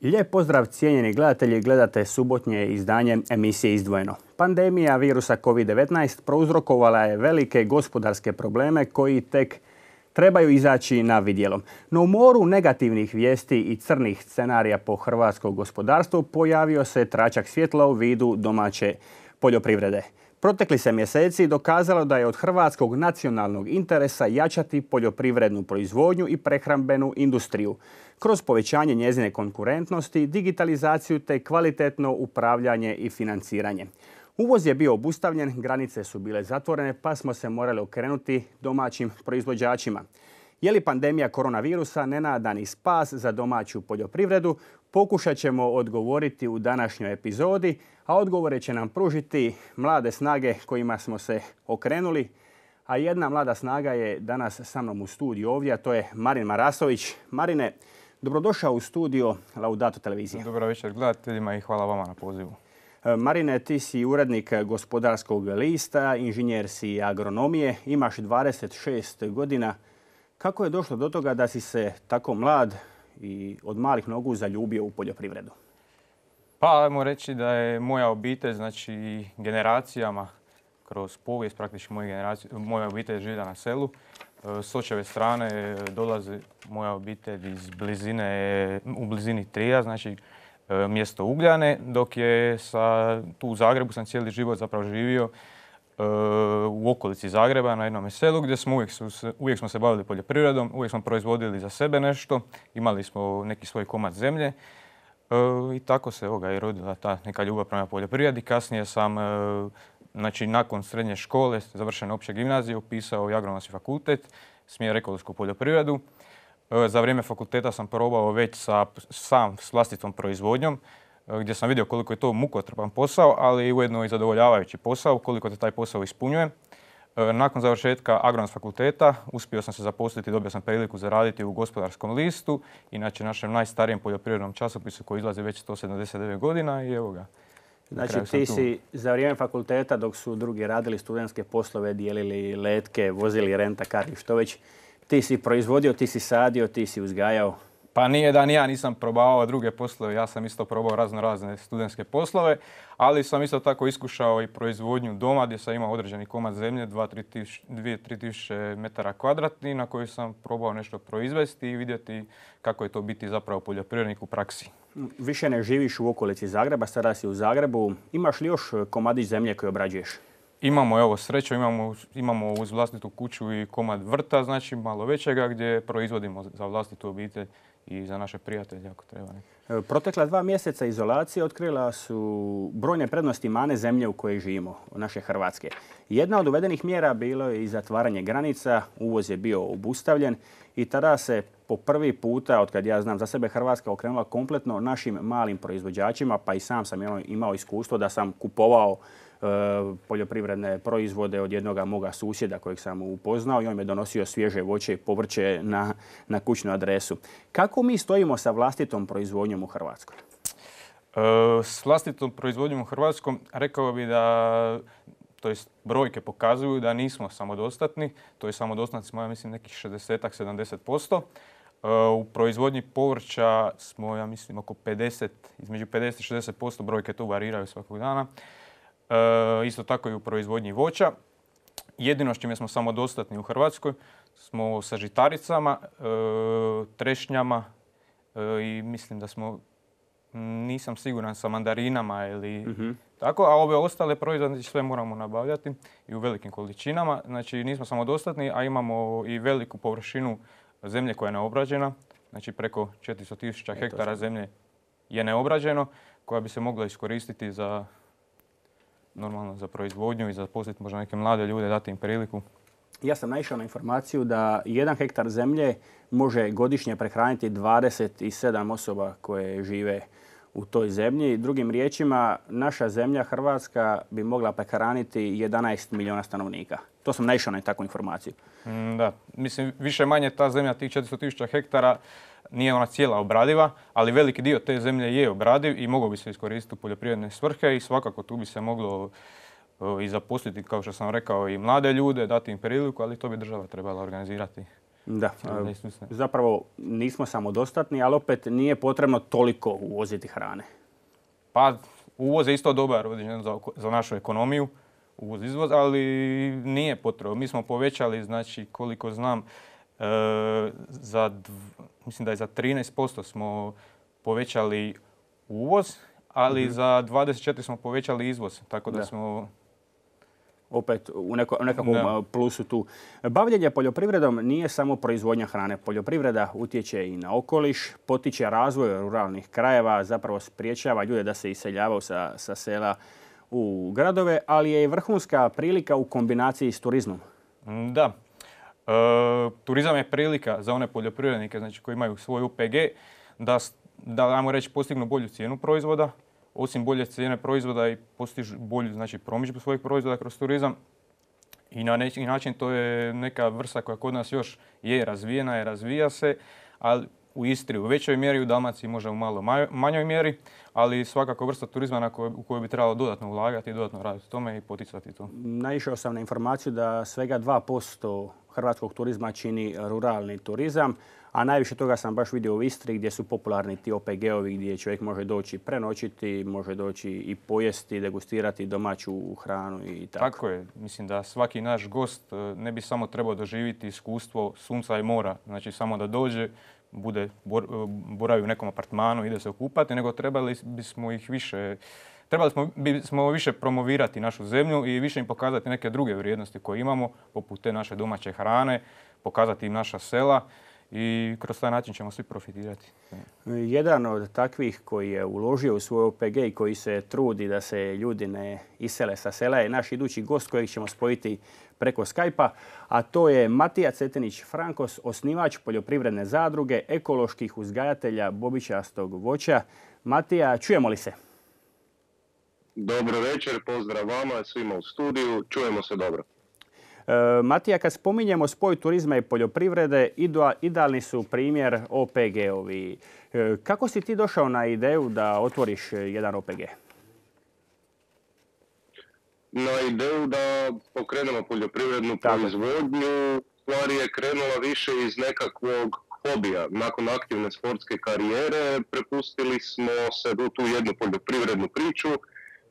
Lijep pozdrav cijenjeni gledatelji, gledate subotnje izdanje emisije Izdvojeno. Pandemija virusa COVID-19 prouzrokovala je velike gospodarske probleme koji tek trebaju izaći na vidjelo. No u moru negativnih vijesti i crnih scenarija po hrvatsko gospodarstvo pojavio se tračak svjetla u vidu domaće poljoprivrede. Protekli se mjeseci dokazalo da je od hrvatskog nacionalnog interesa jačati poljoprivrednu proizvodnju i prehrambenu industriju kroz povećanje njezine konkurentnosti, digitalizaciju te kvalitetno upravljanje i financiranje. Uvoz je bio obustavljen, granice su bile zatvorene pa smo se morali okrenuti domaćim proizvođačima. Je li pandemija koronavirusa nenadani spas za domaću poljoprivredu? Pokušat ćemo odgovoriti u današnjoj epizodi, a odgovore će nam pružiti mlade snage kojima smo se okrenuli. A jedna mlada snaga je danas sa mnom u studiju ovdje, a to je Marin Marasović. Marine, dobrodošao u studio Laudato televizije. Dobro večer gledateljima i hvala vama na pozivu. Marine, ti si urednik Gospodarskog lista, inženjer si agronomije, imaš 26 godina. Kako je došlo do toga da si se tako mlad i od malih nogu zaljubio u poljoprivredu? Pa, ajmo reći da je moja obitelj, znači generacijama, kroz povijest praktički moja obitelj živjela na selu. S očeve strane dolazi moja obitelj iz u blizini Trija, znači mjesto Ugljane, dok je tu u Zagrebu sam cijeli život zapravo živio u okolici Zagreba na jednom selu gdje smo uvijek smo se bavili poljoprivredom, uvijek smo proizvodili za sebe nešto, imali smo neki svoj komad zemlje i tako se i rodila ta neka ljubav prema poljoprivredi. Kasnije sam znači, nakon srednje škole, završene opće gimnazije, upisao i agronomski fakultet, smjer ekološku poljoprivredu. Za vrijeme fakulteta sam probao već s vlastitom proizvodnjom, gdje sam vidio koliko je to mukotrpan posao, ali ujedno i zadovoljavajući posao, koliko te taj posao ispunjuje. Nakon završetka agronomskog fakulteta uspio sam se zaposliti, dobio sam priliku zaraditi u Gospodarskom listu, inače našem najstarijem poljoprivrednom časopisu koji izlazi već 179 godina i evo ga. Znači ti si za vrijeme fakulteta dok su drugi radili studentske poslove, dijelili letke, vozili rent-a-car i što već, ti si proizvodio, ti si sadio, ti si uzgajao. Pa nije da ni ja nisam probao druge poslove, ja sam isto probao razne studentske poslove, ali sam isto tako iskušao i proizvodnju doma gdje sam imao određeni komad zemlje, 2-3 tisuće metara kvadratnih na koji sam probao nešto proizvesti i vidjeti kako je to biti zapravo poljoprivrednik u praksi. Više ne živiš u okolici Zagreba, sada si u Zagrebu. Imaš li još komadić zemlje koje obrađuješ? Imamo, evo sreću, imamo uz vlastitu kuću i komad vrta, znači malo većega gdje proizvodimo za vlastitu obitelj i za naše prijatelje ako treba. Protekla 2 mjeseca izolacije otkrila su brojne prednosti mane zemlje u kojoj živimo, naše Hrvatske. Jedna od uvedenih mjera bilo je i zatvaranje granica, uvoz je bio obustavljen i tada se po prvi puta, otkad ja znam za sebe, Hrvatska okrenula kompletno našim malim proizvođačima, pa i sam sam imao iskustvo da sam kupovao poljoprivredne proizvode od jednoga moga susjeda kojeg sam upoznao i on mi je donosio svježe voće i povrće na kućnu adresu. Kako mi stojimo sa vlastitom proizvodnjom u Hrvatskoj? S vlastitom proizvodnjom u Hrvatskoj rekao bih da, to jest brojke pokazuju da nismo samodostatni, to je samodostatni smo, ja mislim, nekih 60-70%. U proizvodnji povrća smo, ja mislim, oko 50, između 50 i 60%, brojke tu variraju svakog dana. Isto tako i u proizvodnji voća. Jedino s čime smo samodostatni u Hrvatskoj smo sa žitaricama, trešnjama i mislim da smo, nisam siguran, sa mandarinama ili tako, a ove ostale proizvode sve moramo nabavljati i u velikim količinama. Znači nismo samodostatni, a imamo i veliku površinu zemlje koja je neobrađena. Znači preko 400.000 hektara zemlje je neobrađeno, koja bi se mogla iskoristiti za normalno za proizvodnju i za zaposliti možda neke mlade ljude, dati im priliku. Ja sam naišao na informaciju da 1 hektar zemlje može godišnje prehraniti 27 osoba koje žive u toj zemlji. Drugim riječima, naša zemlja Hrvatska bi mogla prehraniti 11 milijuna stanovnika. To sam naišao na takvu informaciju. Da, mislim više manje ta zemlja, tih 400.000 hektara, nije ona cijela obradiva, ali veliki dio te zemlje je obradiv i mogao bi se iskoristiti u poljoprivredne svrhe i svakako tu bi se moglo i zaposliti, kao što sam rekao, i mlade ljude, dati im priliku, ali to bi država trebala organizirati. Da, zapravo nismo samodostatni, ali opet nije potrebno toliko uvoziti hrane. Pa uvoz je isto dobar za našu ekonomiju, uvoz-izvoz, ali nije potrebno. Mi smo povećali, znači koliko znam, mislim da je za 13% smo povećali uvoz, ali za 24% smo povećali izvoz, tako da smo... Opet u nekakvom plusu tu. Bavljenje poljoprivredom nije samo proizvodnja hrane. Poljoprivreda utječe i na okoliš, potiče razvoj ruralnih krajeva, zapravo spriječava ljude da se iseljavaju sa sela u gradove, ali je i vrhunska prilika u kombinaciji s turizmom. Da. Turizam je prilika za one poljoprivrednike, znači, koji imaju svoj OPG da ajmo reći, postignu bolju cijenu proizvoda. Osim bolje cijene proizvoda i postižu bolju, znači, promidžbu svojih proizvoda kroz turizam. I na neki način to je neka vrsta koja kod nas još je razvijena i razvija se, ali u Istri u većoj mjeri, u Dalmaciji možda u malo manjoj mjeri, ali svakako vrsta turizma u koju bi trebalo dodatno ulagati i dodatno raditi tome i poticati to. Naišao sam na informaciju da svega 2% hrvatskog turizma čini ruralni turizam, a najviše toga sam baš vidio u Istri gdje su popularni ti OPG-ovi gdje čovjek može doći prenoćiti, može doći i pojesti, degustirati domaću hranu i tako. Tako je. Mislim da svaki naš gost ne bi samo trebao doživjeti iskustvo sunca i mora, znači samo da dođe, boravi u nekom apartmanu, ide se okupati, nego trebali bismo više promovirati našu zemlju i više im pokazati neke druge vrijednosti koje imamo, poput te naše domaće hrane, pokazati im naša sela i kroz taj način ćemo svi profitirati. Jedan od takvih koji je uložio u svoj OPG i koji se trudi da se ljudi ne isele sa sela je naš idući gost kojeg ćemo spojiti preko Skype-a, a to je Matija Cetinić-Frankos, osnivač poljoprivredne zadruge ekoloških uzgajatelja bobičastog voća. Matija, čujemo li se? Dobro večer, pozdrav vama, svima u studiju, čujemo se dobro. Matija, kad spominjemo spoj turizma i poljoprivrede, idealni su primjer OPG-ovi. Kako si ti došao na ideju da otvoriš jedan OPG? Na ideju da pokrenemo poljoprivrednu proizvodnju, stvari je krenula više iz nekakvog hobija. Nakon aktivne sportske karijere prepustili smo se u tu jednu poljoprivrednu priču.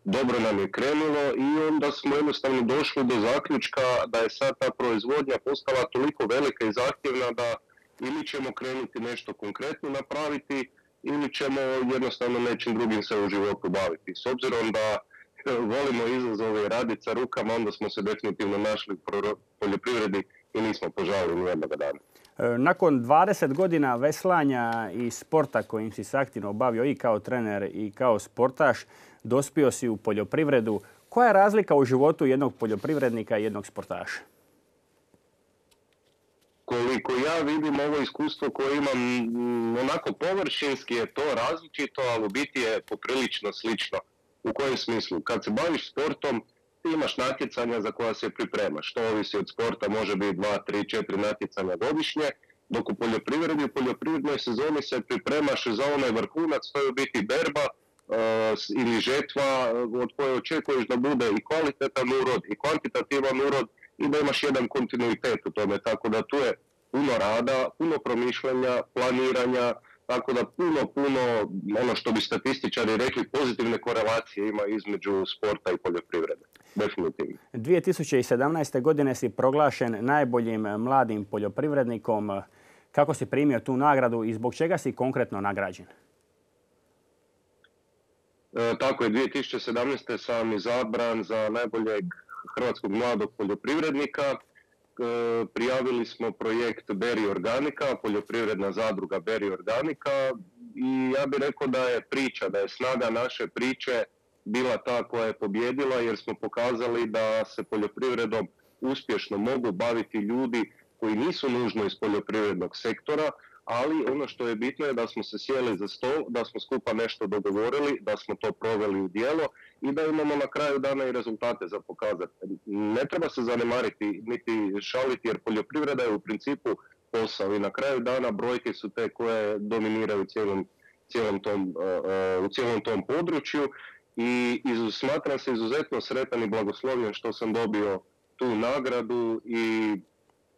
Dobro nam je krenulo i onda smo jednostavno došli do zaključka da je sad ta proizvodnja postala toliko velika i zahtjevna da ili ćemo krenuti nešto konkretno napraviti ili ćemo jednostavno nečim drugim se u životu baviti. S obzirom da volimo izazove i raditi sa rukama, onda smo se definitivno našli u poljoprivredi i nismo požalili ni jednoga dana. Nakon 20 godina veslanja i sporta kojim si se aktivno bavio i kao trener i kao sportaš, dospio si u poljoprivredu. Koja je razlika u životu jednog poljoprivrednika i jednog sportaša? Koliko ja vidim, ovo iskustvo koje imam onako površinski je to različito, ali u biti je poprilično slično. U kojem smislu? Kad se baviš sportom, ti imaš natjecanja za koja se pripremaš. To ovisi od sporta, može biti 2, 3, 4 natjecanja godišnje, dok u poljoprivrednoj sezoni se pripremaš za onaj vrhunac, to je u biti berba ili žetva od koje očekuješ da bude i kvalitetan urod i kvantitativan urod i da imaš jedan kontinuitet u tome. Tako da tu je puno rada, puno promišljanja, planiranja, tako da puno, ono što bi statističari rekli, pozitivne korelacije ima između sporta i poljoprivrede. Definitivno. 2017. godine si proglašen najboljim mladim poljoprivrednikom. Kako si primio tu nagradu i zbog čega si konkretno nagrađen? Tako je, 2017. sam izabran za najboljeg hrvatskog mladog poljoprivrednika. Prijavili smo projekt Berry Organica, poljoprivredna zadruga Berry Organica i ja bih rekao da je snaga naše priče bila ta koja je pobjedila jer smo pokazali da se poljoprivredom uspješno mogu baviti ljudi koji nisu nužno iz poljoprivrednog sektora, ali ono što je bitno je da smo se sjeli za stol, da smo skupa nešto dogovorili, da smo to proveli u djelo i da imamo na kraju dana i rezultate za pokazati. Ne treba se zanemariti niti šaliti jer poljoprivreda je u principu posao i na kraju dana brojke su te koje dominiraju u cijelom tom području i smatram se izuzetno sretan i blagoslovljen što sam dobio tu nagradu i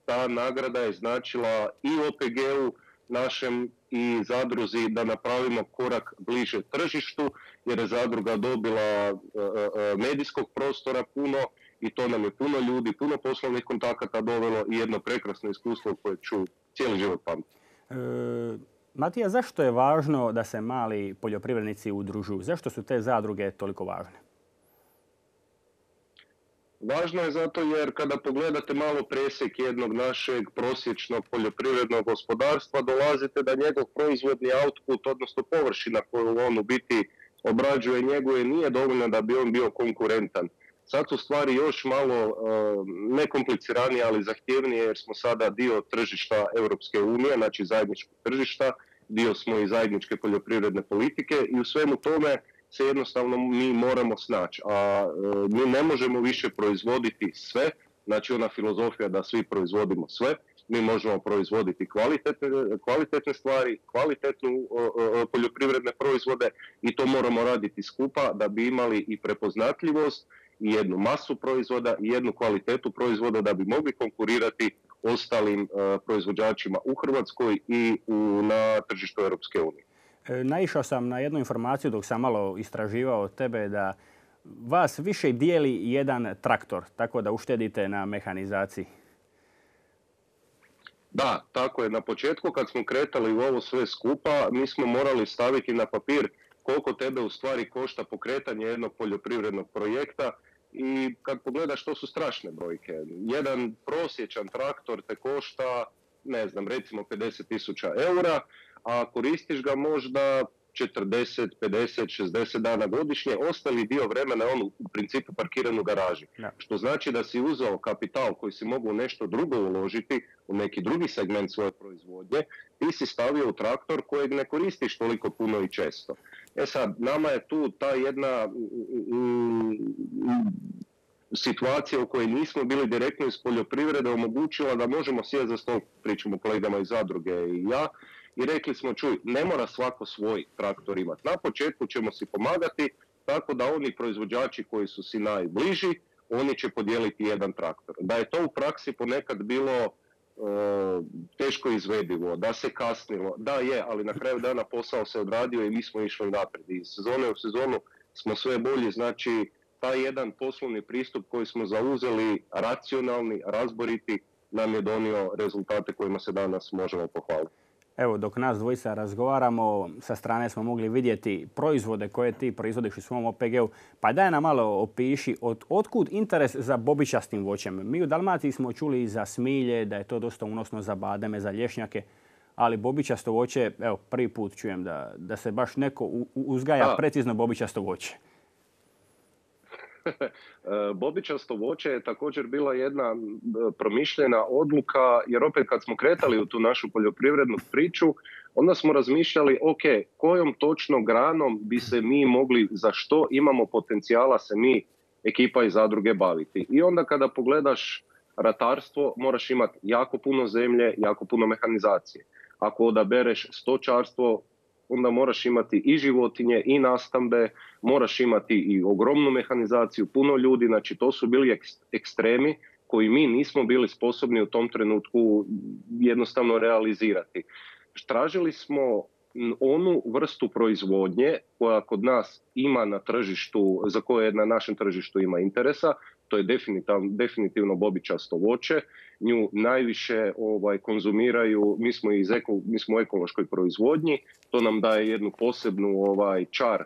ta nagrada je značila i OPG-u našem i zadruzi da napravimo korak bliže tržištu, jer je zadruga dobila medijskog prostora puno i to nam je puno ljudi, puno poslovnih kontakata dovelo i jedno prekrasno iskustvo koje ću cijeli život pamtiti. Matija, zašto je važno da se mali poljoprivrednici udružuju? Zašto su te zadruge toliko važne? Važno je zato jer kada pogledate malo presjek jednog našeg prosječnog poljoprivrednog gospodarstva, dolazite da njegov proizvodni output, odnosno površina koju on u biti obrađuje, njeguje, nije dovoljna da bi on bio konkurentan. Sad su stvari još malo nekompliciranije, ali zahtjevnije jer smo sada dio tržišta Europske unije, znači zajedničkog tržišta, dio smo i zajedničke poljoprivredne politike i u svemu tome se jednostavno mi moramo snaći. A mi ne možemo više proizvoditi sve, znači ona filozofija da svi proizvodimo sve, mi možemo proizvoditi kvalitetne stvari, kvalitetnu poljoprivredne proizvode i to moramo raditi skupa da bi imali i prepoznatljivost i jednu masu proizvoda i jednu kvalitetu proizvoda da bi mogli konkurirati ostalim proizvođačima u Hrvatskoj i na tržištu Europske unije. Naišao sam na jednu informaciju dok sam malo istraživao tebe da vas više dijeli jedan traktor, tako da uštedite na mehanizaciji. Da, tako je. Na početku kad smo kretali u ovo sve skupa, mi smo morali staviti na papir koliko tebe u stvari košta pokretanje jednog poljoprivrednog projekta i kad pogledaš to su strašne brojke. Jedan prosječan traktor te košta, ne znam, recimo 50.000 eura, a koristiš ga možda 40, 50, 60 dana godišnje, ostali dio vremena on u principu parkiran u garaži. Ja. Što znači da si uzeo kapital koji si mogu nešto drugo uložiti, u neki drugi segment svoje proizvodnje, ti si stavio u traktor kojeg ne koristiš toliko puno i često. E sad, nama je tu ta jedna situacija u kojoj nismo bili direktno iz poljoprivrede omogućila da možemo sjeti za stol, pričamo kolegama iz zadruge i ja, i rekli smo, čuj, ne mora svako svoj traktor imati. Na početku ćemo si pomagati tako da oni proizvođači koji su si najbliži, oni će podijeliti jedan traktor. Da je to u praksi ponekad bilo teško izvedivo, da se kasnilo, da je, ali na kraju dana posao se odradio i mi smo išli naprijed. Iz sezone u sezonu smo sve bolji, znači taj jedan poslovni pristup koji smo zauzeli, racionalni, razboriti, nam je donio rezultate kojima se danas možemo pohvaliti. Evo, dok nas dvojica razgovaramo, sa strane smo mogli vidjeti proizvode koje ti proizvodiš u svom OPG-u. Pa daj nam malo opiši otkud interes za bobičastim voćem. Mi u Dalmaciji smo čuli za smilje, da je to dosta unosno za bademe, za lješnjake, ali bobičasto voće, evo, prvi put čujem da se baš neko uzgaja precizno bobičasto voće. Bobičasto voće je također bila jedna promišljena odluka, jer opet kad smo kretali u tu našu poljoprivrednu priču, onda smo razmišljali, ok, kojom točno granom bi se mi mogli, za što imamo potencijala se mi, ekipa iz zadruge, baviti. I onda kada pogledaš ratarstvo, moraš imati jako puno zemlje, jako puno mehanizacije. Ako odabereš stočarstvo, onda moraš imati i životinje i nastambe, moraš imati i ogromnu mehanizaciju, puno ljudi, znači to su bili ekstremi koji mi nismo bili sposobni u tom trenutku jednostavno realizirati. Tražili smo onu vrstu proizvodnje koja kod nas ima na tržištu, za koje na našem tržištu ima interesa, to je definitivno bobičasto voće. Nju najviše konzumiraju, mi smo u ekološkoj proizvodnji, to nam daje jednu posebnu čar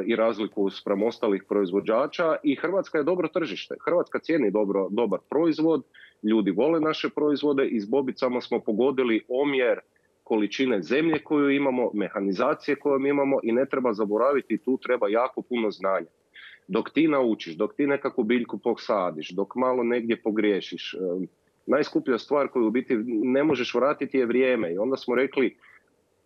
i razliku spram ostalih proizvođača i Hrvatska je dobro tržište. Hrvatska cijeni dobar proizvod, ljudi vole naše proizvode i s bobicama smo pogodili omjer količine zemlje koju imamo, mehanizacije koju imamo i ne treba zaboraviti, tu treba jako puno znanja. Dok ti naučiš, dok ti nekakvu biljku posadiš, dok malo negdje pogriješiš, najskuplja stvar koju u biti ne možeš vratiti je vrijeme. I onda smo rekli,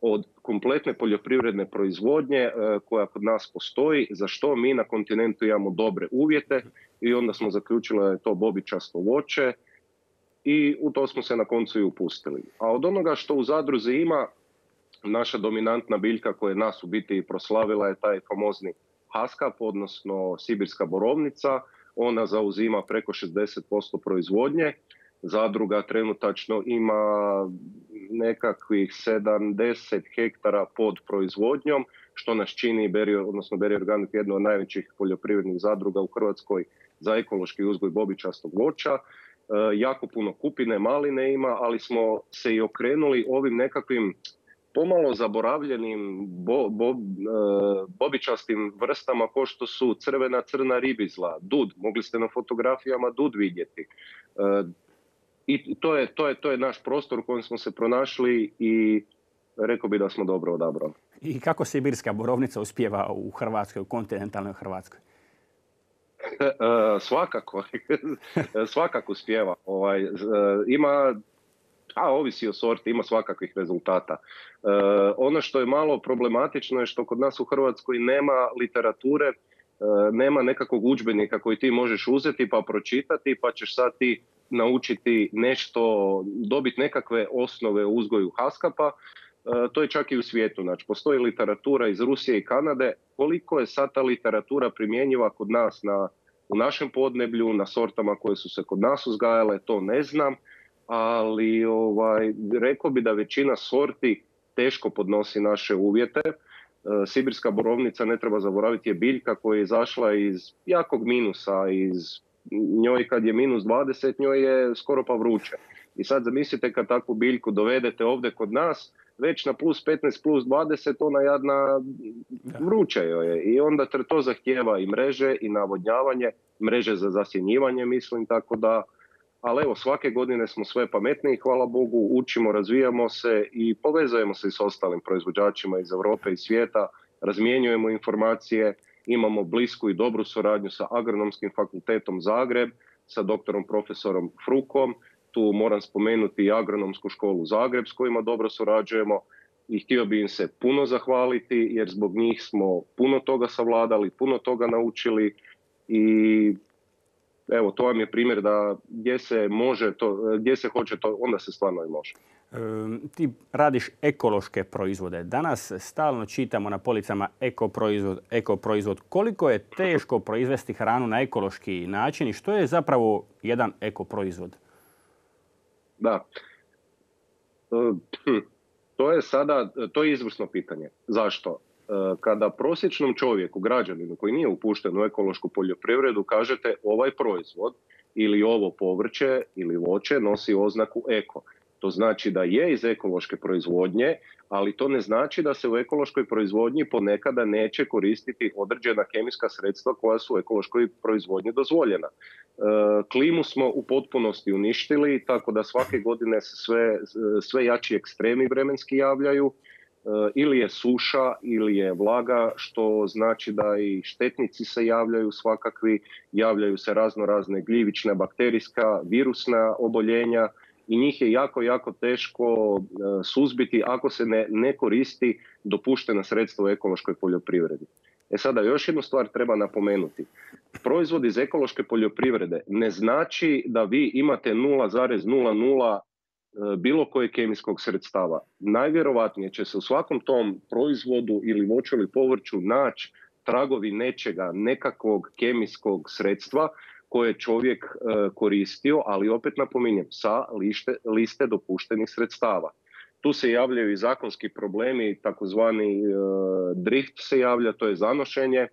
od kompletne poljoprivredne proizvodnje koja kod nas postoji, za što mi na kontinentu imamo dobre uvjete i onda smo zaključili da je to bobičasto voće i u to smo se na koncu i upustili. A od onoga što u zadruzi ima, naša dominantna biljka koja je nas u biti i proslavila je taj famozni haskap, odnosno sibirska borovnica. Ona zauzima preko 60% proizvodnje. Zadruga trenutačno ima nekakvih 70 hektara pod proizvodnjom, što nas čini Berry Organic jedno od najvećih poljoprivrednih zadruga u Hrvatskoj za ekološki uzgoj bobičastog voća. Jako puno kupine, maline ima, ali smo se i okrenuli ovim nekakvim pomalo zaboravljenim bobičastim vrstama kao što su crna ribizla, dud. Mogli ste na fotografijama dud vidjeti. I to je naš prostor u kojem smo se pronašli i rekao bi da smo dobro odabrali. I kako sibirska borovnica uspijeva u Hrvatskoj, u kontinentalnoj Hrvatskoj? Svakako uspijeva. Ima, ovisi o sorti, ima svakakvih rezultata. Ono što je malo problematično je što kod nas u Hrvatskoj nema literature, nema nekakvog udžbenika koji ti možeš uzeti pa pročitati, pa ćeš sad ti naučiti nešto, dobiti nekakve osnove u uzgoju haskapa. To je čak i u svijetu. Znači, postoji literatura iz Rusije i Kanade. Koliko je sad ta literatura primjenjiva kod nas u našem podneblju, na sortama koje su se kod nas uzgajale, to ne znam. Ali rekao bi da većina sorti teško podnosi naše uvjete. Sibirska borovnica, ne treba zaboraviti, je biljka koja je izašla iz jakog minusa, njoj kad je minus 20, njoj je skoro pa vruće. I sad zamislite kad takvu biljku dovedete ovdje kod nas, već na plus 15, plus 20, ona jadna vruća joj je. I onda to zahtijeva i mreže i navodnjavanje, mreže za zasjenjivanje, mislim, tako da. Ali evo, svake godine smo sve pametniji, hvala Bogu, učimo, razvijamo se i povezujemo se s ostalim proizvođačima iz Europe i svijeta, razmjenjujemo informacije, imamo blisku i dobru suradnju sa Agronomskim fakultetom Zagreb, sa doktorom profesorom Frukom. Tu moram spomenuti i Agronomsku školu Zagreb s kojima dobro surađujemo i htio bi im se puno zahvaliti jer zbog njih smo puno toga savladali, puno toga naučili i evo, to vam je primjer da gdje se može to, gdje se hoće to, onda se stvarno i može. Ti radiš ekološke proizvode. Danas stalno čitamo na policama ekoproizvod. Koliko je teško proizvesti hranu na ekološki način i što je zapravo jedan ekoproizvod? Da. To je izvrsno pitanje. Zašto? Kada prosječnom čovjeku, građaninu koji nije upušten u ekološku poljoprivredu, kažete ovaj proizvod ili ovo povrće ili voće nosi oznaku eko. To znači da je iz ekološke proizvodnje, ali to ne znači da se u ekološkoj proizvodnji ponekada neće koristiti određena kemijska sredstva koja su u ekološkoj proizvodnji dozvoljena. Klimu smo u potpunosti uništili, tako da svake godine se sve jači ekstremi vremenski javljaju. Ili je suša ili je vlaga, što znači da i štetnici se javljaju svakakvi, javljaju se razne gljivična, bakterijska, virusna oboljenja i njih je jako teško suzbiti ako se ne koristi dopuštena sredstva u ekološkoj poljoprivredi. Sada još jednu stvar treba napomenuti. Proizvod iz ekološke poljoprivrede ne znači da vi imate 0,00 bilo koje kemijskog sredstava. Najvjerovatnije će se u svakom tom proizvodu ili voću ili povrću naći tragovi nečega, nekakvog kemijskog sredstva koje je čovjek koristio, ali opet napominjem, sa liste dopuštenih sredstava. Tu se javljaju i zakonski problemi, takozvani drift se javlja, to je zanošenje.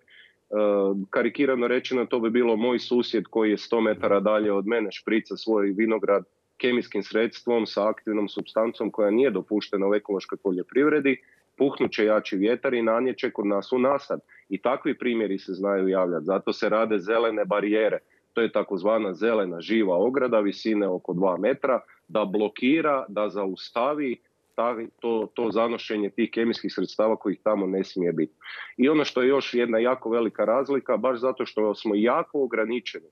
Karikirano rečeno, to bi bilo moj susjed koji je 100 metara dalje od mene šprica svoj vinograd kemijskim sredstvom sa aktivnom supstancom koja nije dopuštena u ekološkoj poljoprivredi, puhnuće jači vjetar i nanjeće kod nas u nasad. I takvi primjeri se znaju javljati. Zato se rade zelene barijere. To je takozvana zelena živa ograda visine oko 2 metra da blokira, da zaustavi to zanošenje tih kemijskih sredstava kojih tamo ne smije biti. I ono što je još jedna jako velika razlika, baš zato što smo jako ograničeni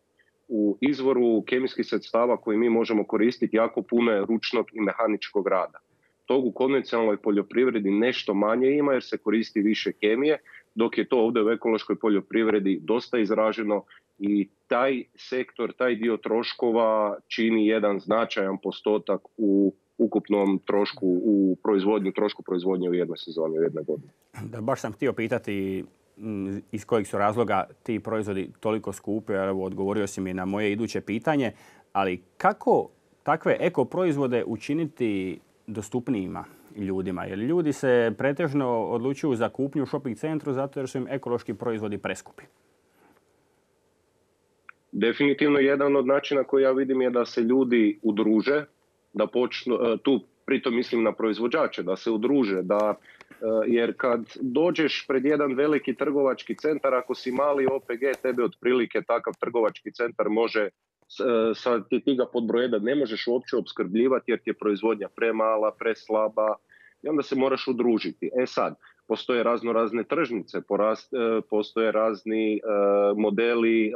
u izvoru kemijskih sredstava koji mi možemo koristiti, jako puno je ručnog i mehaničkog rada. Tog u konvencionalnoj poljoprivredi nešto manje ima jer se koristi više kemije, dok je to ovdje u ekološkoj poljoprivredi dosta izraženo i taj sektor, taj dio troškova čini jedan značajan postotak u ukupnom trošku u proizvodnju, trošku proizvodnje u jednoj sezoni, u jednoj godini. Da, baš sam htio pitati iz kojeg su razloga ti proizvodi toliko skupi, evo odgovorio si mi na moje iduće pitanje, ali kako takve eko proizvode učiniti dostupnijima ljudima? Jer ljudi se pretežno odlučuju za kupnju u shopping centru zato jer su im ekološki proizvodi preskupi. Definitivno jedan od načina koji ja vidim je da se ljudi udruže, da počnu, tu pritom mislim na proizvođače, da se udruže, jer kad dođeš pred jedan veliki trgovački centar, ako si mali OPG, tebe otprilike takav trgovački centar može, ti ga pod broj 1 ne možeš uopće opskrbljivati jer ti je proizvodnja premala, preslaba i onda se moraš udružiti. Sad, postoje razne tržnice, postoje razni modeli,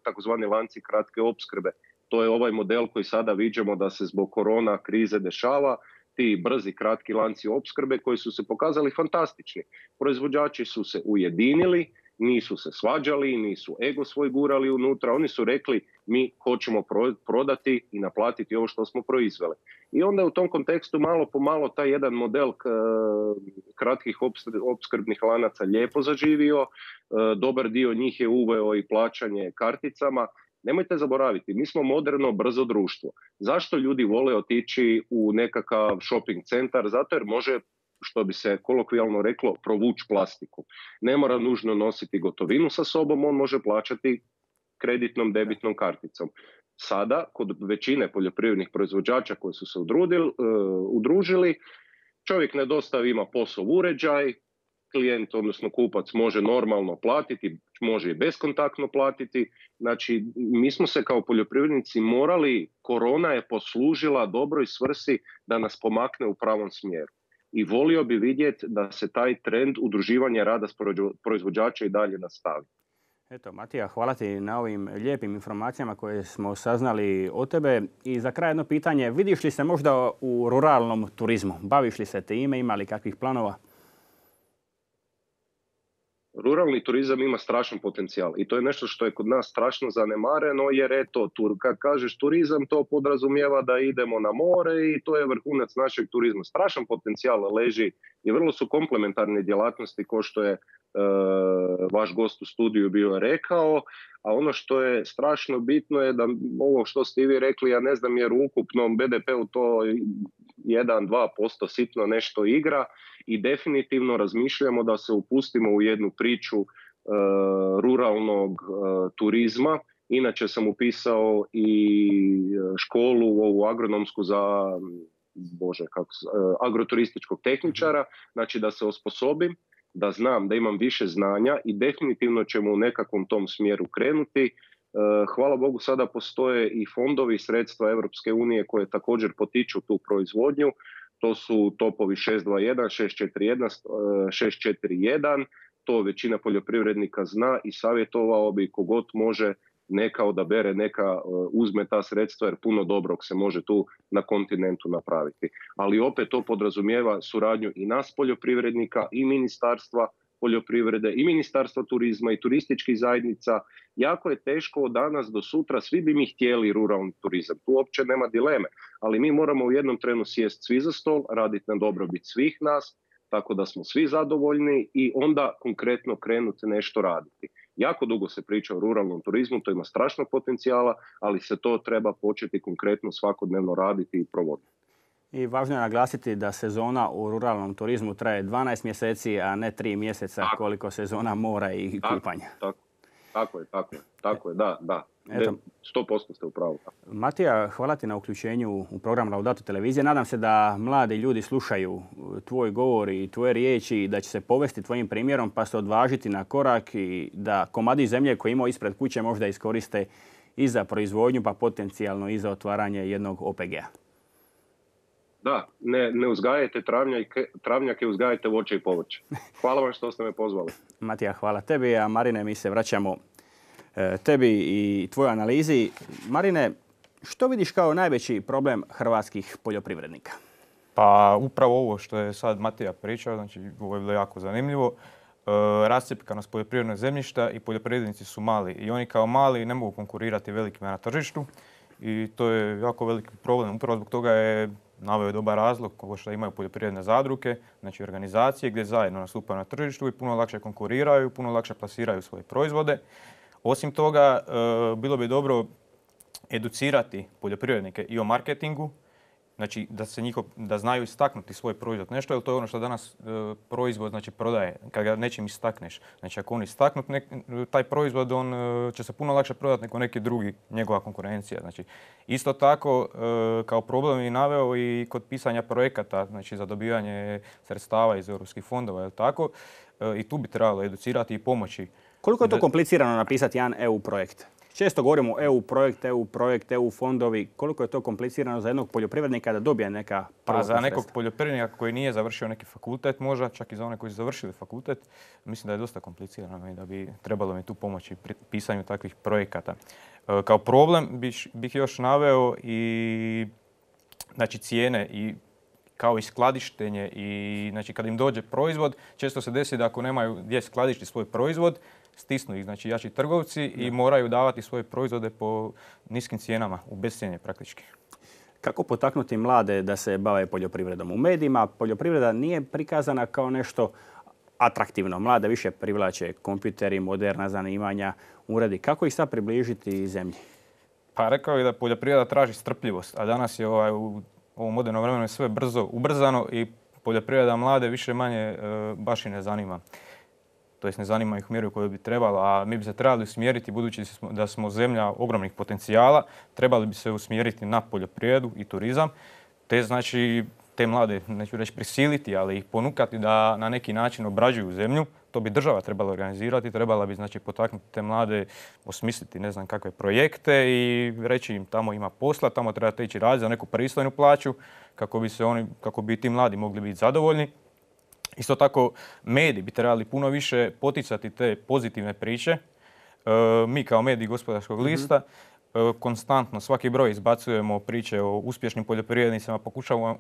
takozvani lanci kratke opskrbe. To je ovaj model koji sada viđamo da se zbog korona krize dešava, ti brzi kratki lanci opskrbe koji su se pokazali fantastični. Proizvođači su se ujedinili, nisu se svađali, nisu ego svoj gurali unutra, oni su rekli mi hoćemo prodati i naplatiti ovo što smo proizveli. I onda u tom kontekstu malo po malo taj jedan model kratkih opskrbnih lanaca lijepo zaživio, dobar dio njih je uveo i plaćanje karticama. Nemojte zaboraviti, mi smo moderno, brzo društvo. Zašto ljudi vole otići u nekakav shopping centar? Zato jer može, što bi se kolokvijalno reklo, provući plastiku. Ne mora nužno nositi gotovinu sa sobom, on može plaćati kreditnom, debitnom karticom. Sada, kod većine poljoprivrednih proizvođača koji su se udružili, čovjek ne dostavi, ima POS uređaj, klijent, odnosno kupac, može normalno platiti, može i beskontaktno platiti. Znači, mi smo se kao poljoprivrednici morali, korona je poslužila dobroj svrsi da nas pomakne u pravom smjeru. I volio bi vidjeti da se taj trend udruživanja rada s proizvođača i dalje nastavi. Eto, Matija, hvala ti na ovim lijepim informacijama koje smo saznali o tebe. I za kraj jedno pitanje, vidiš li se možda u ruralnom turizmu? Baviš li se time, ima li kakvih planova? Ruralni turizam ima strašan potencijal i to je nešto što je kod nas strašno zanemareno jer eto, kad kažeš turizam to podrazumijeva da idemo na more i to je vrhunac našeg turizma. Strašan potencijal leži i vrlo su komplementarne djelatnosti kao što je vaš gost u studiju bio rekao, a ono što je strašno bitno je da ovo što ste i vi rekli, ja ne znam jer u ukupnom BDP-u to 1-2% sitno nešto igra i definitivno razmišljamo da se upustimo u jednu priču ruralnog turizma. Inače sam upisao i školu ovu agronomsku za agroturističkog tehničara, znači da se osposobim, da znam da imam više znanja i definitivno ćemo u nekakvom tom smjeru krenuti. Hvala Bogu sada postoje i fondovi i sredstva Europske unije koje također potiču tu proizvodnju. To su topovi 621, 641, 641. To većina poljoprivrednika zna i savjetovao bi kogod može neka odabere, neka uzme ta sredstva jer puno dobrog se može tu na kontinentu napraviti. Ali opet to podrazumijeva suradnju i nas poljoprivrednika i Ministarstva poljoprivrede i Ministarstva turizma i turističkih zajednica. Jako je teško od danas do sutra, svi bi mi htjeli ruralni turizam, tu uopće nema dileme, ali mi moramo u jednom trenu sjesti svi za stol, raditi na dobrobit svih nas, tako da smo svi zadovoljni i onda konkretno krenuti nešto raditi. Jako dugo se priča o ruralnom turizmu, to ima strašnog potencijala, ali se to treba početi konkretno svakodnevno raditi i provoditi. I važno je naglasiti da sezona u ruralnom turizmu traje 12 mjeseci, a ne 3 mjeseca koliko sezona mora i kupanja. Tako je, da. Eto. 100% ste u pravu. Matija, hvala ti na uključenju u program Laudato televizije. Nadam se da mladi ljudi slušaju tvoj govor i tvoje riječi i da će se povesti tvojim primjerom pa se odvažiti na korak i da komadi zemlje koje imaju ispred kuće možda iskoriste i za proizvodnju pa potencijalno i za otvaranje jednog OPG-a. Da, ne uzgajajte travnjake, uzgajajte voće i povrće. Hvala vam što ste me pozvali. Matija, hvala tebi, a Marine, mi se vraćamo tebi i tvojoj analizi. Marine, što vidiš kao najveći problem hrvatskih poljoprivrednika? Pa upravo ovo što je sad Matija pričao, znači ovo je bilo jako zanimljivo. Rascjepkanost poljoprivrednog zemljišta i poljoprivrednici su mali. I oni kao mali ne mogu konkurirati velikima na tržištu. I to je jako veliki problem. Upravo zbog toga je naveo dobar razlog ovo što imaju poljoprivredne zadruge, znači organizacije gdje zajedno nastupaju na tržištu i puno lakše konkuriraju, puno lakše plasiraju svoje proizvode. Osim toga, bilo bi dobro educirati poljoprivrednike i o marketingu, znači da znaju istaknuti svoj proizvod nešto, jer to je ono što danas proizvod znači prodaje, kad ga nečim istakneš. Znači ako on istaknut taj proizvod, on će se puno lakše prodati nego neki drugi, njegova konkurencija. Znači, isto tako kao problem je naveo i kod pisanja projekata, znači za dobivanje sredstava iz europskih fondova, jel tako? I tu bi trebalo educirati i pomoći. Koliko je to komplicirano napisati jedan EU projekt? Često govorimo EU projekt, EU fondovi. Koliko je to komplicirano za jednog poljoprivrednika da dobije neka prva sredstva? Za nekog poljoprivrednika koji nije završio neki fakultet, možda čak i za one koji su završili fakultet, mislim da je dosta komplicirano i da bi trebalo mi tu pomoći pri pisanju takvih projekata. Kao problem bih još naveo i znači, cijene i kao i skladištenje i znači kad im dođe proizvod, često se desi da ako nemaju gdje skladištiti svoj proizvod, stisnu ih znači jači trgovci i moraju davati svoje proizvode po niskim cijenama, u bescjenje praktički. Kako potaknuti mlade da se bave poljoprivredom? U medijima poljoprivreda nije prikazana kao nešto atraktivno. Mlade više privlače kompjuteri, moderna zanimanja, uredi. Kako ih sad približiti zemlji? Pa rekao je da poljoprivreda traži strpljivost, a danas je u ovom modernom vremenu sve brzo, ubrzano i poljoprivreda mlade više manje baš i ne zanima. To jest ne zanima ih u mjeru koju bi trebala, a mi bi se trebali usmjeriti, budući da smo zemlja ogromnih potencijala, trebali bi se usmjeriti na poljoprivredu i turizam, te znači te mlade, neću reći prisiliti, ali ih ponukati da na neki način obrađuju zemlju. To bi država trebala organizirati, trebala bi znači potaknuti te mlade, osmisliti ne znam kakve projekte i reći im tamo ima posla, tamo trebate ići raditi za neku pristojnu plaću kako bi ti mladi mogli biti zadovoljni. Isto tako, mediji bi trebali puno više poticati te pozitivne priče. Mi kao mediji Gospodarskog lista konstantno svaki broj izbacujemo priče o uspješnim poljoprivrednicima,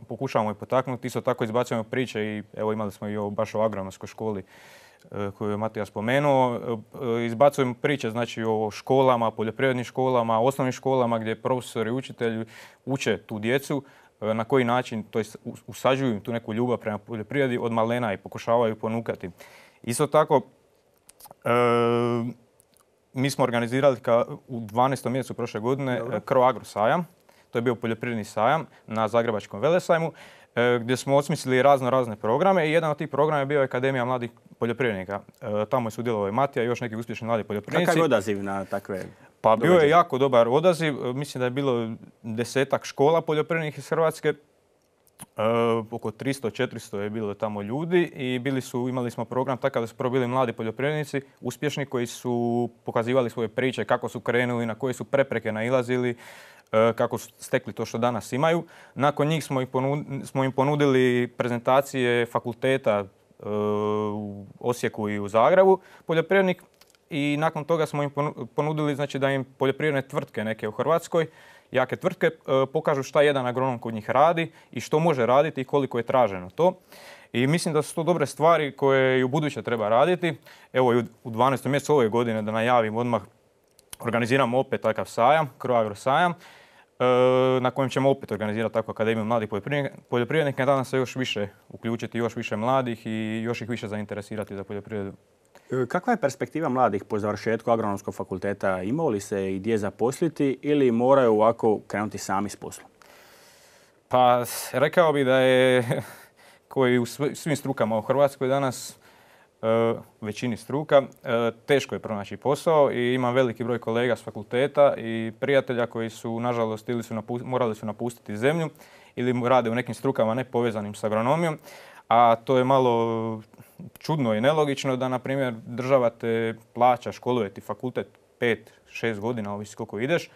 pokušavamo ih potaknuti. Isto tako izbacujemo priče i evo imali smo i baš o agronomskoj školi koju je Matija spomenuo. Izbacujemo priče znači o školama, poljoprivrednim školama, osnovnim školama gdje profesori i učitelji uče tu djecu na koji način, to jest usađuju tu neku ljubav prema poljoprivredi od malena i pokušavaju ponukati. Isto tako, mi smo organizirali u 12. mjesecu prošle godine Croagro sajam. To je bio poljoprivredni sajam na Zagrebačkom velesajmu gdje smo osmislili razne programe i jedan od tih programa je bio Akademija mladih poljoprivrednika. Tamo je sudjelovao i Matija i još neki uspješni mladi poljoprivrednici. Kakav je odaziv na takve? Pa bio je jako dobar odaziv. Mislim da je bilo 10-ak škola poljoprivrednih iz Hrvatske. Oko 300-400 je bilo tamo ljudi i imali smo program takav da su prvo bili mladi poljoprivrednici, uspješni koji su pokazivali svoje priče, kako su krenuli, na koje su prepreke nailazili, kako su stekli to što danas imaju. Nakon njih smo im ponudili prezentacije fakulteta u Osijeku i u Zagrebu, poljoprivrednik. I nakon toga smo im ponudili znači, da im poljoprivredne tvrtke neke u Hrvatskoj, jake tvrtke, pokažu šta jedan agronom kod njih radi i što može raditi i koliko je traženo to. I mislim da su to dobre stvari koje i u buduće treba raditi. Evo i u 12. mjesecu ove godine, da najavim odmah, organiziramo opet takav sajam, Croagro sajam, na kojem ćemo opet organizirati takvu akademiju mladih poljoprivrednika i nadam se još više uključiti još više mladih i još ih više zainteresirati za poljoprivredu. Kakva je perspektiva mladih po završetku agronomskog fakulteta? Imaju li se i gdje zaposliti ili moraju ovako krenuti sami s poslom? Pa rekao bih da je, koji u svim strukama u Hrvatskoj danas, većini struka, teško je pronaći posao i imam veliki broj kolega s fakulteta i prijatelja koji su, nažalost, morali su napustiti zemlju ili rade u nekim strukama nepovezanim s agronomijom, a to je malo čudno i nelogično da, na primjer, država te plaća, školuje ti fakultet 5-6 godina, ovisi koliko ideš,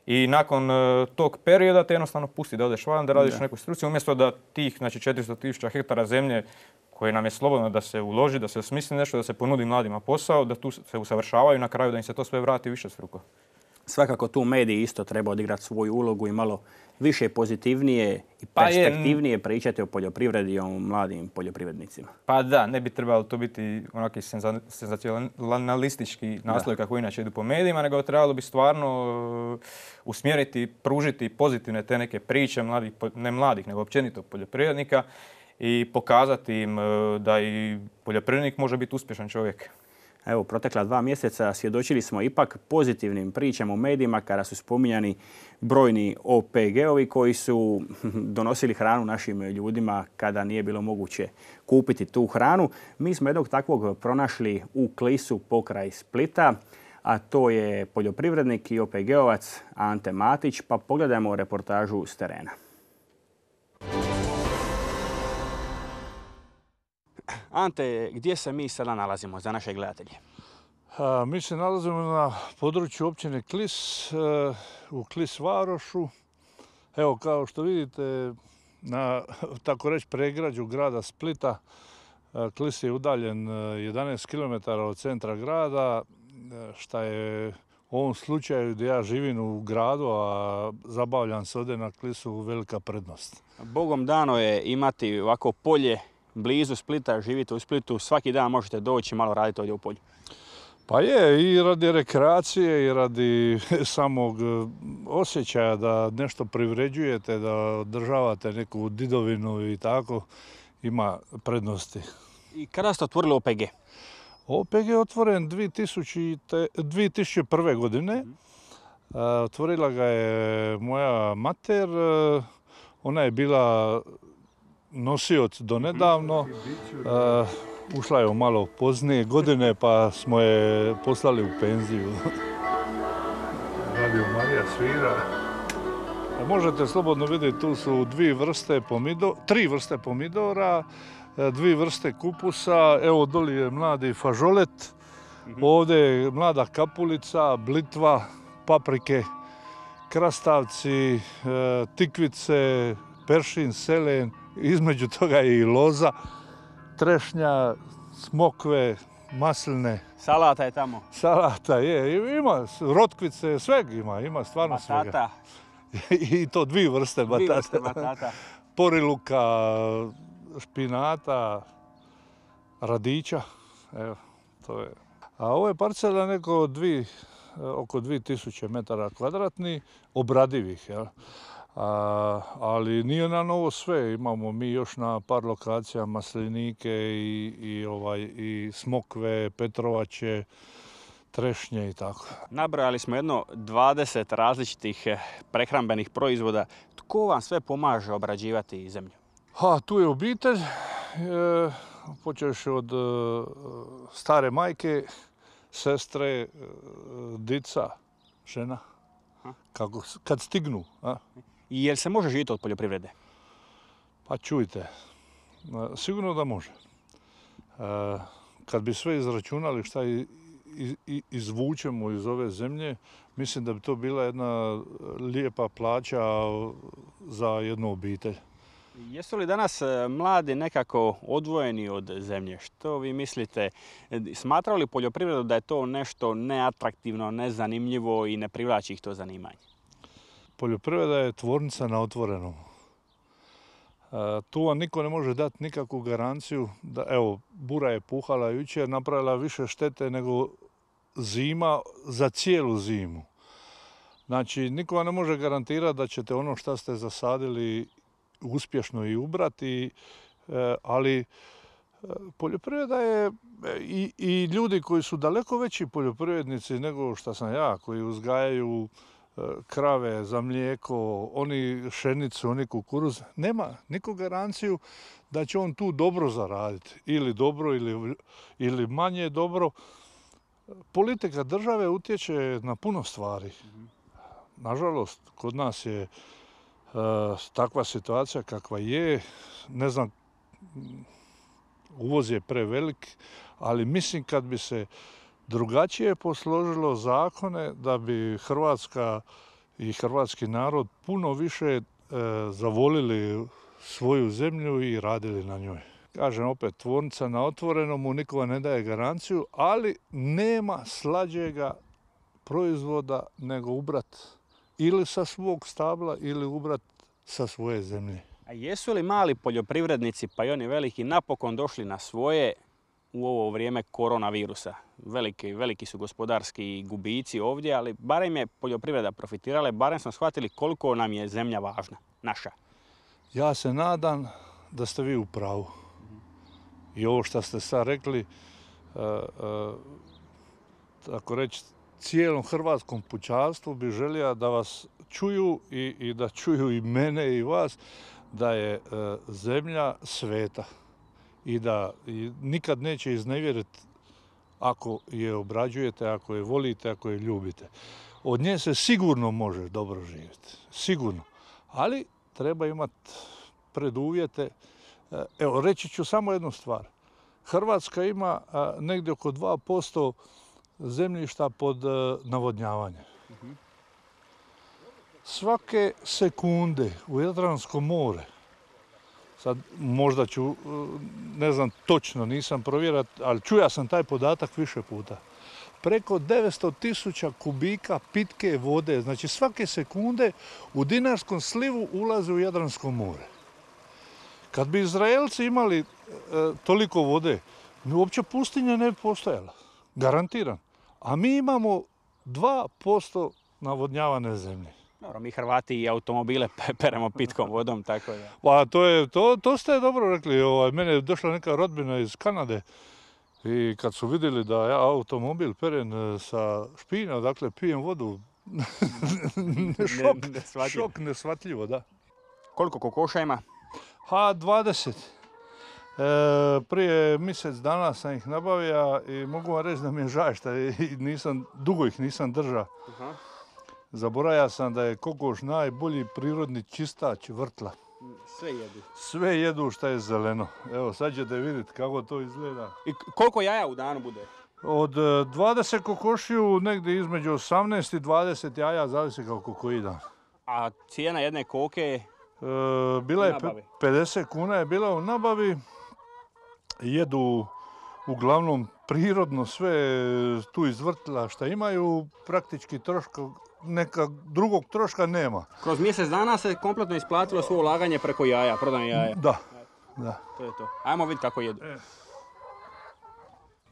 i nakon tog perioda te jednostavno pusti da odeš van, da radiš u nekoj struci, umjesto da tih, znači 400.000 hektara zemlje koje nam je slobodno da se uloži, da se osmisli nešto, da se ponudi mladima posao, da tu se usavršavaju i na kraju da im se to sve vrati višestruko. Svakako tu mediji isto treba odigrati svoju ulogu i malo više pozitivnije i perspektivnije pričati o poljoprivredi i o mladim poljoprivrednicima. Pa da, ne bi trebalo to biti onaki senzacionalistički naslovi kako inače idu po medijima, nego trebalo bi stvarno usmjeriti, pružiti pozitivne te neke priče mladih, ne mladih, nego općenito poljoprivrednika i pokazati im da i poljoprivrednik može biti uspješan čovjek. Evo, protekla 2 mjeseca svjedočili smo ipak pozitivnim pričama u medijima kada su spominjani brojni OPG-ovi koji su donosili hranu našim ljudima kada nije bilo moguće kupiti tu hranu. Mi smo jednog takvog pronašli u Klisu pokraj Splita, a to je poljoprivrednik i OPG-ovac Ante Matić, pa pogledajmo reportažu s terena. Ante, gdje se mi sada nalazimo za naše gledatelje? Mi se nalazimo na području općine Klis, u Klis Varošu. Evo, kao što vidite, na tako reći pregrađu grada Splita, Klis je udaljen 11 km od centra grada, što je u ovom slučaju gdje ja živim u gradu, a zabavljam se ovdje na Klisu, velika prednost. Bogom dano je imati ovako polje blizu Splita, živite u Splitu, svaki dan možete doći malo raditi ovdje u polju. Pa je, i radi rekreacije i radi samog osjećaja da nešto privređujete, da održavate neku didovinu i tako, ima prednosti. I kada ste otvorili OPG? OPG je otvoren 2001. godine. Otvorila ga je moja mater, ona je bila nosioc do nedavno. Ušla je u malo poznije godine pa smo je poslali u penziju. Radio Marija svira. Možete slobodno vidjeti, tu su 3 vrste pomidora, 2 vrste kupusa. Evo doli je mladi fažolet, ovdje je mlada kapulica, blitva, paprike, krastavci, tikvice, peršin, selen, između toga je i loza, trešnja, smokve, masline. Salata je tamo. Salata je, ima rotkvice, sveg ima stvarno svega. Batata. I to 2 vrste batata. 2 vrste batata. Poriluka, špinata, radića. Evo, to je. A ovo je parcela oko 2000 metara kvadratnih, obradivih. Jel? Ali nije na novo sve. Imamo mi još na par lokacija maslinike i smokve, petrovače, trešnje i tako. Nabrojali smo jedno 20 različitih prehrambenih proizvoda. Tko vam sve pomaže obrađivati zemlju? Tu je obitelj, počeš od stare majke, sestre, dica, žena, kad stignu. I jel se može živjeti od poljoprivrede? Pa čujte, sigurno da može. Kad bi sve izračunali šta izvučemo iz ove zemlje, mislim da bi to bila jedna lijepa plaća za jednu obitelj. Jesu li danas mladi nekako odvojeni od zemlje? Što vi mislite? Smatraju li poljoprivredu da je to nešto neatraktivno, nezanimljivo i ne privlači ih to zanimanje? Poljoprivreda je tvornica na otvorenom. Tu vam niko ne može dati nikakvu garanciju da, evo, bura je puhala jučer, napravila više štete nego zima za cijelu zimu. Znači, niko vam ne može garantirati da ćete ono što ste zasadili uspješno i ubrati, ali poljoprivreda je i ljudi koji su daleko veći poljoprivrednici nego što sam ja, koji uzgajaju krave za mlijeko, oni pšenicu, oni kukuruz, nema niko garanciju da će on tu dobro zaraditi. Ili dobro ili manje dobro. Politika države utječe na puno stvari. Nažalost, kod nas je takva situacija kakva je. Ne znam, uvoz je prevelik, ali mislim kad bi se drugačije posložilo zakone, da bi Hrvatska i hrvatski narod puno više zavolili svoju zemlju i radili na njoj. Kažem opet, tvornica na otvorenom, niko ne daje garanciju, ali nema slađega proizvoda nego ubrat ili sa svog stabla ili ubrat sa svoje zemlje. A jesu li mali poljoprivrednici, pa i oni veliki, napokon došli na svoje u ovo vrijeme koronavirusa? Veliki su gospodarski gubici ovdje, ali barem je poljoprivreda profitirala, barem smo shvatili koliko nam je zemlja važna, naša. Ja se nadam da ste vi u pravu. I ovo što ste sad rekli, tako reći, cijelom hrvatskom pučanstvu bi želio da vas čuju i da čuju i mene i vas, da je zemlja sveta i da nikad neće iznevjeriti ako je obrađujete, ako je volite, ako je ljubite. Od nje se sigurno može dobro živjeti, sigurno, ali treba imati preduvjete. Evo, reći ću samo jednu stvar. Hrvatska ima negdje oko 2% zemljišta pod navodnjavanjem. Svake sekunde u Jadransko more, sad možda ću, ne znam točno, nisam provjerio, ali čuja sam taj podatak više puta. Preko 900.000 kubika pitke vode, znači svake sekunde u Dinarskom slivu ulaze u Jadransko more. Kad bi Izraelci imali toliko vode, uopće pustinja ne bi postojala, garantiram. A mi imamo 2% navodnjavane zemlje. Dobro, mi Hrvati i automobile peremo pitkom vodom, tako da. Pa to ste dobro rekli. Mene je došla neka rodbina iz Kanade i kad su vidjeli da ja automobil perem sa špina, dakle pijem vodu, šok neshvatljivo, da. Koliko kokoša ima? 20. Prije mjesec dana sam ih nabavio i mogu vam reći da mi je žao što dugo ih nisam držao. Zaboravio sam da je kokoš najbolji prirodni čistač vrtla. Sve jedu. Sve jedu što je zeleno. Evo, sad ćete vidjeti kako to izgleda. I koliko jaja u danu bude? Od 20 kokošiju, negdje između 18 i 20 jaja, zavisi kako koji dan. A cijena jedne koke? Bila je 50 kuna je bila u nabavi. Jedu uglavnom prirodno sve tu iz vrtla što imaju, praktički neka drugog troška nema. Kroz mjesec dana se kompletno isplatilo svo ulaganje preko jaja, prodanje jaja. Da. To je to. Ajmo vidjeti kako jedu.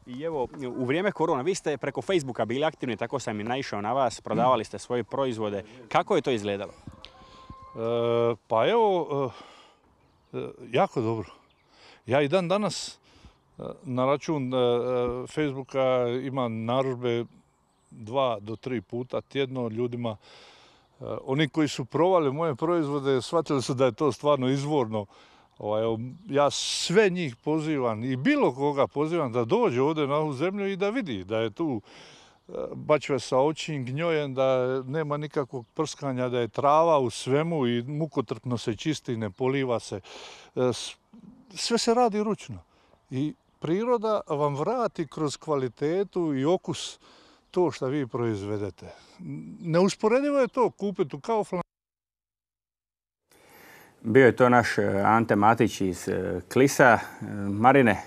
I evo, u vrijeme korona, vi ste preko Facebooka bili aktivni, tako sam i naišao na vas, prodavali ste svoje proizvode. Kako je to izgledalo? Pa evo, jako dobro. Ja i dan danas na račun Facebooka imam narudžbe 2 do 3 puta tjedno ljudima. Oni koji su provali moje proizvode shvatili su da je to stvarno izvorno. Ja sve njih pozivam i bilo koga pozivam da dođe ovdje na ovu zemlju i da vidi da je tu bačve sa očim gnjojem, da nema nikakvog prskanja, da je trava u svemu i mukotrpno se čisti, ne poliva se. Sve se radi ručno. I priroda vam vrati kroz kvalitetu i okus to što vi proizvedete. Neusporedivo je to kupiti u Kauflandu. Bio je to naš Ante Matić iz Klisa. Marine,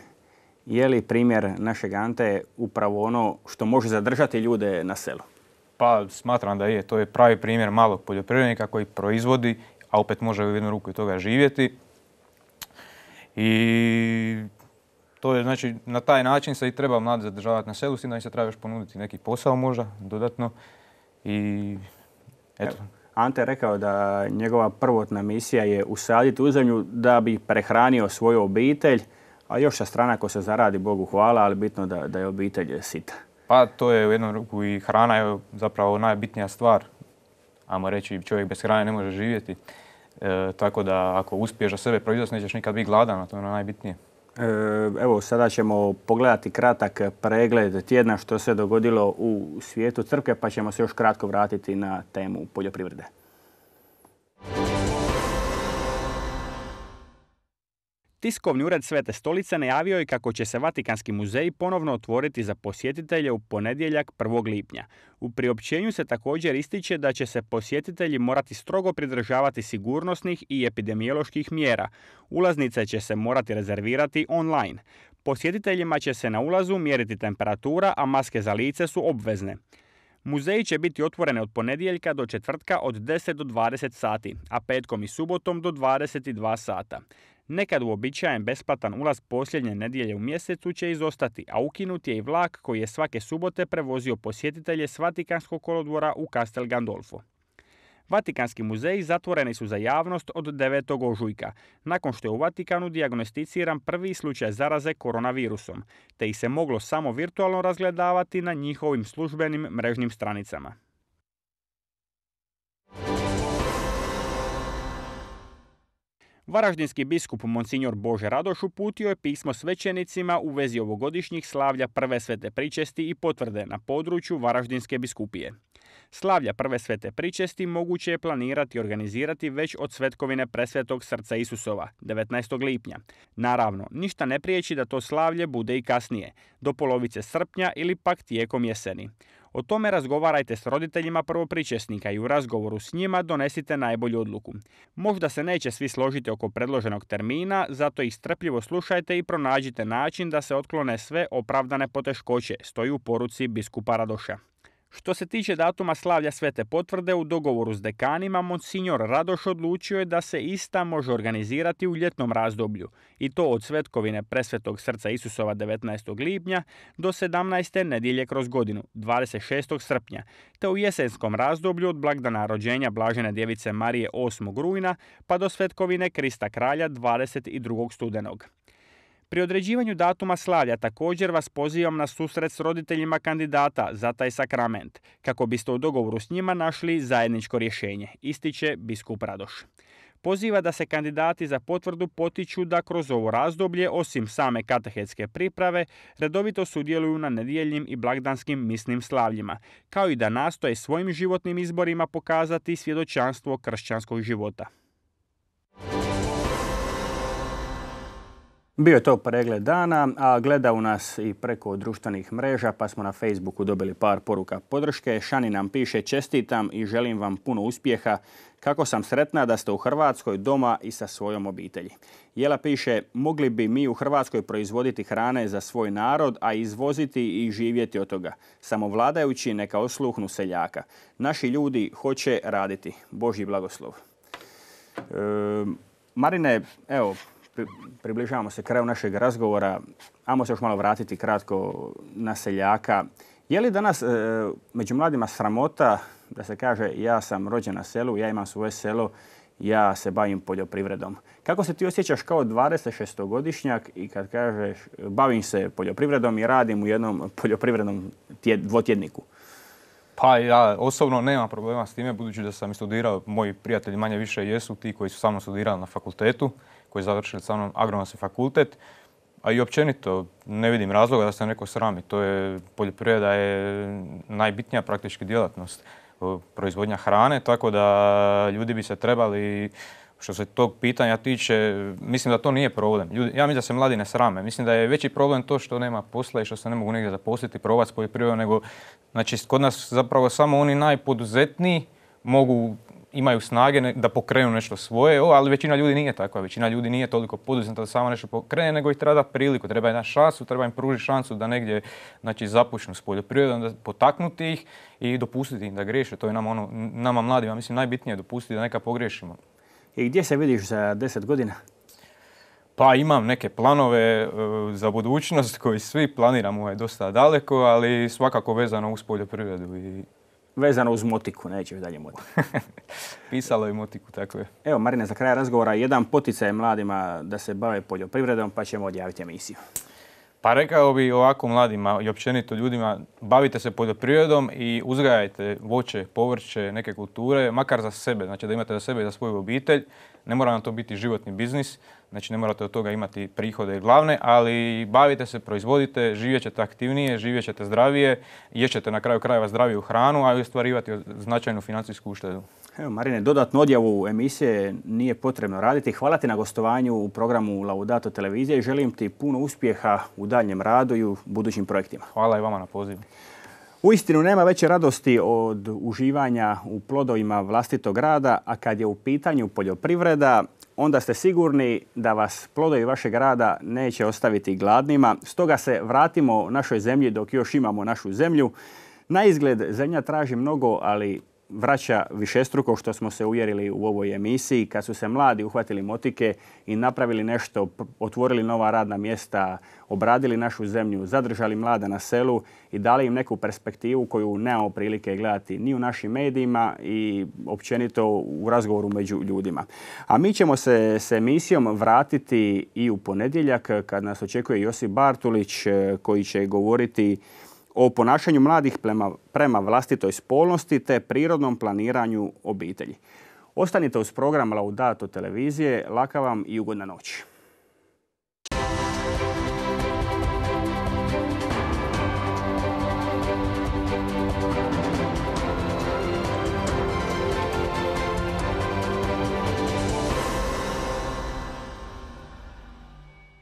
je li primjer našeg Ante upravo ono što može zadržati ljude na selu? Pa smatram da je. To je pravi primjer malog poljoprivrednika koji proizvodi, a opet može u jednu ruku i toga živjeti. I to je, znači, na taj način se i treba mladi zadržavati na selu, s tim da im se treba još ponuditi neki posao možda dodatno. I eto. Ante je rekao da njegova prvotna misija je usaditi u zemlju da bi prehranio svoju obitelj, a još sa strane ako se zaradi, Bogu hvala, ali bitno da je obitelj sita. Pa to je u jednom ruku i hrana je zapravo najbitnija stvar. Ajmo reći, čovjek bez hrane ne može živjeti. Tako da ako uspiješ za sebe proizvesti, nećeš nikad biti gladan, a to je ono najbitnije. Evo, sada ćemo pogledati kratak pregled tjedna što se dogodilo u svijetu crkve, pa ćemo se još kratko vratiti na temu poljoprivrede. Tiskovni ured Svete Stolice najavio je kako će se Vatikanski muzej ponovno otvoriti za posjetitelje u ponedjeljak 1. lipnja. U priopćenju se također ističe da će se posjetitelji morati strogo pridržavati sigurnosnih i epidemioloških mjera. Ulaznice će se morati rezervirati online. Posjetiteljima će se na ulazu mjeriti temperatura, a maske za lice su obvezne. Muzeji će biti otvorene od ponedjeljka do četvrtka od 10 do 20 sati, a petkom i subotom do 22 sata. Nekad uobičajen besplatan ulaz posljednje nedjelje u mjesecu će izostati, a ukinut je i vlak koji je svake subote prevozio posjetitelje s Vatikanskog kolodvora u Castel Gandolfo. Vatikanski muzeji zatvoreni su za javnost od 9. ožujka, nakon što je u Vatikanu dijagnosticiran prvi slučaj zaraze koronavirusom, te ih se moglo samo virtualno razgledavati na njihovim službenim mrežnim stranicama. Varaždinski biskup Monsignor Bože Radoš uputio je pismo svećenicima u vezi ovogodišnjih slavlja Prve svete pričesti i potvrde na području Varaždinske biskupije. Slavlja Prve svete pričesti moguće je planirati i organizirati već od svetkovine Presvetog srca Isusova, 19. lipnja. Naravno, ništa ne priječi da to slavlje bude i kasnije, do polovice srpnja ili pak tijekom jeseni. O tome razgovarajte s roditeljima prvopričesnika i u razgovoru s njima donesite najbolju odluku. Možda se neće svi složiti oko predloženog termina, zato ih strpljivo slušajte i pronađite način da se otklone sve opravdane poteškoće, stoji u poruci biskupa Radoša. Što se tiče datuma slavlja Svete potvrde, u dogovoru s dekanima, Monsignor Radoš odlučio je da se ista može organizirati u ljetnom razdoblju, i to od svetkovine Presvetog srca Isusova 19. lipnja do 17. nedjelje kroz godinu, 26. srpnja, te u jesenskom razdoblju od blagdana rođenja Blažene djevice Marije 8. rujna pa do svetkovine Krista kralja 22. studenog. Pri određivanju datuma slavlja također vas pozivam na susret s roditeljima kandidata za taj sakrament, kako biste u dogovoru s njima našli zajedničko rješenje, ističe biskup Radoš. Poziva da se kandidati za potvrdu potiču da kroz ovo razdoblje, osim same katehetske priprave, redovito sudjeluju na nedjeljnim i blagdanskim misnim slavljima, kao i da nastoje svojim životnim izborima pokazati svjedočanstvo kršćanskog života. Bio je to pregled dana, a gledaju nas i preko društvenih mreža, pa smo na Facebooku dobili par poruka podrške. Šani nam piše: čestitam i želim vam puno uspjeha. Kako sam sretna da ste u Hrvatskoj doma i sa svojom obitelji. Jela piše: mogli bi mi u Hrvatskoj proizvoditi hrane za svoj narod, a izvoziti i živjeti od toga. Samo vladajući neka osluhnu seljaka. Naši ljudi hoće raditi. Božji blagoslov. Marine, evo, približavamo se kraju našeg razgovora. Ajmo se još malo vratiti kratko na seljaka. Je li danas među mladima sramota da se kaže ja sam rođen na selu, ja imam svoje selo, ja se bavim poljoprivredom? Kako se ti osjećaš kao 26-godišnjak i kad kažeš bavim se poljoprivredom i radim u jednom poljoprivrednom dvotjedniku? Pa ja osobno nemam problema s time, budući da sam studirao, moji prijatelji manje više jesu ti koji su sa mnom studirali na fakultetu, koji su završili sa mnom agronomski fakultet, a i općenito ne vidim razloga da se neko srami. Poljoprivreda je najbitnija praktički djelatnost, proizvodnja hrane, tako da ljudi bi se trebali, što se tog pitanja tiče, mislim da to nije problem. Ja mislim da se mladi ne srame. Mislim da je veći problem to što nema posla i što se ne mogu negdje zaposliti, probati s poljoprivredom, nego znači, kod nas zapravo samo oni najpoduzetniji imaju snage da pokrenu nešto svoje, ali većina ljudi nije takva. Većina ljudi nije toliko poduzetna da samo nešto pokrene, nego ih treba dati priliku, treba im dati šansu, treba im pružiti šansu da negdje započnu s poljoprivredom, da potaknuti ih i dopustiti im da griješe. To je nama mladima, mislim, najbitnije dopustiti da neka pogriješimo. I gdje se vidiš za 10 godina? Pa imam neke planove za budućnost koji svi planiramo dosta daleko, ali svakako vezano uz poljoprivredu. Vezano uz motiku, nećeš dalje motiku. Pisalo je motiku, tako je. Evo, Marine, za kraj razgovora jedan poticaj mladima da se bave poljoprivredom, pa ćemo odjaviti emisiju. Pa rekao bi ovako mladima i općenito ljudima, bavite se poljoprivredom i uzgajajte voće, povrće, neke kulture, makar za sebe, znači da imate za sebe i za svoju obitelj. Ne mora nam to biti životni biznis, znači ne morate od toga imati prihode glavne, ali bavite se, proizvodite, živjet ćete aktivnije, živjet ćete zdravije, ješćete na kraju krajeva zdraviju hranu, a i ostvarivati značajnu financijsku uštedu. Evo, Marine, dodatnu odjavu emisije nije potrebno raditi. Hvala ti na gostovanju u programu Laudato televizije i želim ti puno uspjeha u daljnjem radu i u budućim projektima. Hvala i vama na pozivu. Uistinu nema veće radosti od uživanja u plodovima vlastitog rada, a kad je u pitanju poljoprivreda, onda ste sigurni da vas plodovi vašeg rada neće ostaviti gladnima. Stoga se vratimo našoj zemlji dok još imamo našu zemlju. Na izgled zemlja traži mnogo, ali vraća višestruko, što smo se uvjerili u ovoj emisiji, kad su se mladi uhvatili motike i napravili nešto, otvorili nova radna mjesta, obradili našu zemlju, zadržali mlade na selu i dali im neku perspektivu koju nemamo prilike gledati ni u našim medijima i općenito u razgovoru među ljudima. A mi ćemo se s emisijom vratiti i u ponedjeljak kad nas očekuje Josip Bartulić koji će govoriti o ponašanju mladih prema vlastitoj spolnosti te prirodnom planiranju obitelji. Ostanite uz program Laudato televizije. Laka vam i ugodna noć.